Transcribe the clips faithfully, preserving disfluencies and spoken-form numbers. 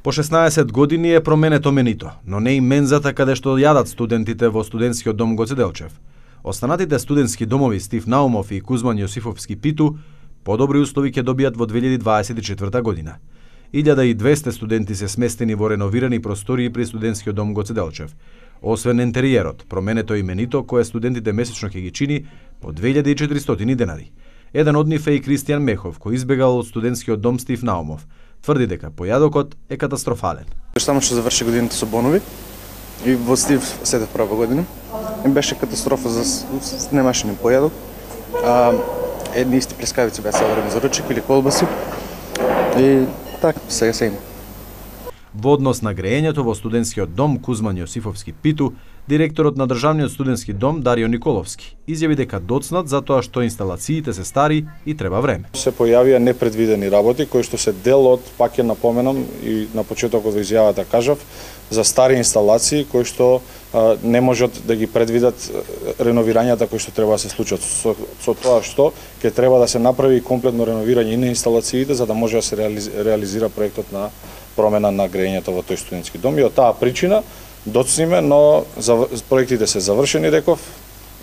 По шеснаесет години е променето менито, но не и мензата каде што јадат студентите во студентскиот дом Гоце Делчев. Останатите студентски домови Стив Наумов и Кузман Јосифовски Питу подобри услови ќе добијат во две илјади дваесет и четврта година. илјада и двесте студенти се сместени во реновирани простории при студентскиот дом Гоце Делчев. Освен интериерот, променето и менито кое студентите месечно ќе ги чини по две илјади и четиристотини денари. Еден од нив е и Кристијан Мехов, кој избегал од студентскиот дом Стив Наумов. Тврди дека појадокот е катастрофален. Само што заврши годината со бонови и во Стив седев прва година. И беше катастрофа, за немаше ни појадок. А, едни исти плескавици беа savарени за ручек или колбаси. И така, сега се има. Во однос на грејењето во студентскиот дом Кузман Јосифовски Питу, директорот на државниот студентски дом Дарио Николовски изјави дека доцнат затоа што инсталациите се стари и треба време. Се појавија непредвидени работи кои што се дел од, пак ќе напоменам и на почетокот во изјавата кажав, за стари инсталации кои што а, не можат да ги предвидат реновирањата кои што треба да се случат. Со, со тоа што ќе треба да се направи комплетно реновирање и на инсталациите за да може да се реализира проектот на промена на грејењето во тој студентски дом. И од таа причина доцниме, но проектите се завршени, реков,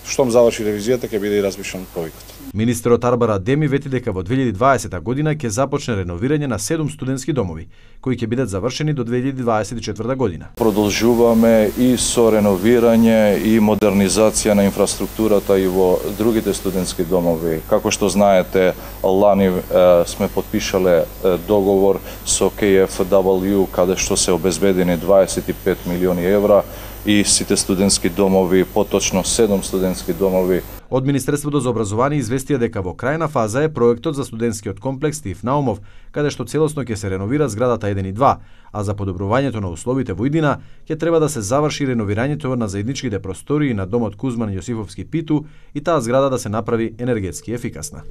штом заврши ревизијата ќе биде и разбишан проектот. Министерот Арбар Адеми вети дека во две илјади дваесета година ќе започне реновирање на седум студентски домови, кои ќе бидат завршени до две илјади дваесет и четврта година. Продолжуваме и со реновирање и модернизација на инфраструктурата и во другите студентски домови. Како што знаете, лани е, сме подпишале е, договор со Кей Еф Дабл Ю каде што се обезбедени дваесет и пет милиони евра и сите студентски домови, поточно седум студентски домови. Од Министерството за образование известија дека во крајна фаза е проектот за студентскиот комплекс Стив Наумов, каде што целосно ќе се реновира зградата еден и два, а за подобрувањето на условите во иднина ќе треба да се заврши реновирањето на заедничките простории на домот Кузман Јосифовски Питу и таа зграда да се направи енергетски ефикасна.